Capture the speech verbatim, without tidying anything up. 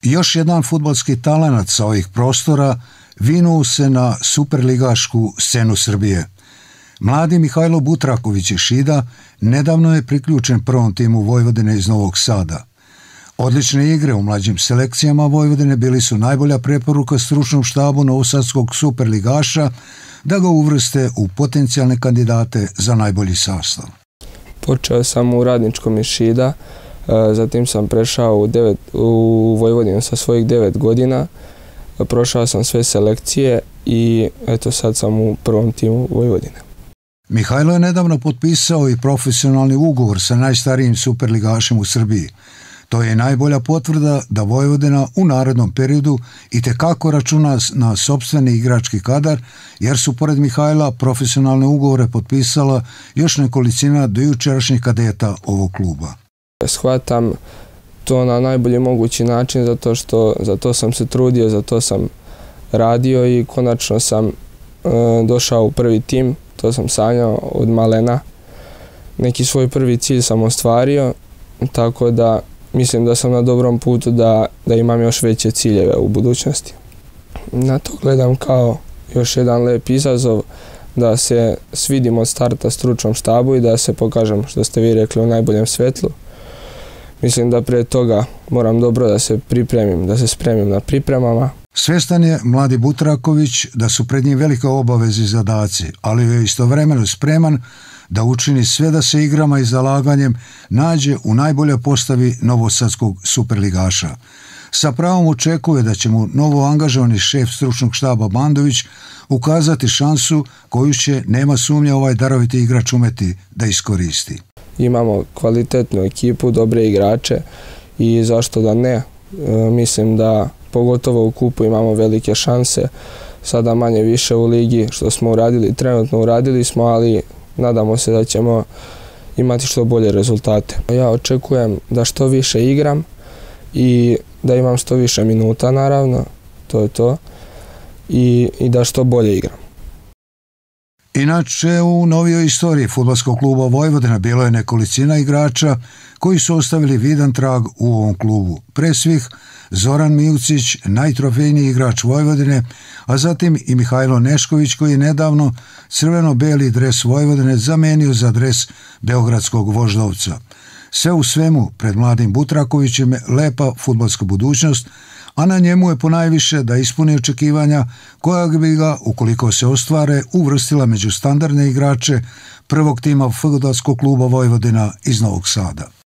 Još jedan fudbalski talenat sa ovih prostora vinuo se na superligašku scenu Srbije. Mladi Mihajlo Butraković iz Šida nedavno je priključen prvom timu Vojvodine iz Novog Sada. Odlične igre u mlađim selekcijama Vojvodine bili su najbolja preporuka stručnom štabu novosadskog superligaša da ga uvrste u potencijalne kandidate za najbolji sastav. Počeo sam u Radničkom iz Šida, zatim sam prešao u, devet, u Vojvodinu sa svojih devet godina, prošao sam sve selekcije i eto sad sam u prvom timu Vojvodine. Mihajlo je nedavno potpisao i profesionalni ugovor sa najstarijim superligašem u Srbiji. To je najbolja potvrda da Vojvodina u narednom periodu itekako računa na sopstveni igrački kadar, jer su pored Mihajla profesionalne ugovore potpisala još nekolicina dojučerašnjih kadeta ovog kluba. Shvatam to na najbolji mogući način zato što za to sam se trudio, za to sam radio i konačno sam e, došao u prvi tim. To sam sanjao od malena. Neki svoj prvi cilj sam ostvario, tako da mislim da sam na dobrom putu da, da imam još veće ciljeve u budućnosti. Na to gledam kao još jedan lep izazov, da se svidim od starta stručnom štabu i da se pokažem, što ste vi rekli, u najboljem svetlu. Mislim da prije toga moram dobro da se pripremim, da se spremim na pripremama. Svjestan je mladi Butraković da su pred njim velike obaveze i zadaci, ali je istovremeno spreman da učini sve da se igrama i zalaganjem nađe u najboljoj postavi novosadskog superligaša. Sa pravom očekuje da će mu novo angažovani šef stručnog štaba Bandović ukazati šansu koju će, nema sumnje, ovaj daroviti igrač umeti da iskoristi. Imamo kvalitetnu ekipu, dobre igrače i zašto da ne. E, mislim da pogotovo u kupu imamo velike šanse. Sada manje više u ligi što smo uradili, trenutno uradili smo, ali nadamo se da ćemo imati što bolje rezultate. Ja očekujem da što više igram i da imam što više minuta, naravno, to je to, i, i da što bolje igram. Inače, u novijoj istoriji fudbalskog kluba Vojvodina bilo je nekolicina igrača koji su ostavili vidan trag u ovom klubu. Pre svih Zoran Mijucić, najtrofejniji igrač Vojvodine, a zatim i Mihajlo Nešković koji je nedavno crveno-beli dres Vojvodine zamenio za dres beogradskog Voždovca. Sve u svemu, pred mladim Butrakovićem je lepa fudbalska budućnost, a na njemu je ponajviše da ispuni očekivanja koja bi ga, ukoliko se ostvare, uvrstila među standardne igrače prvog tima fudbalskog kluba Vojvodina iz Novog Sada.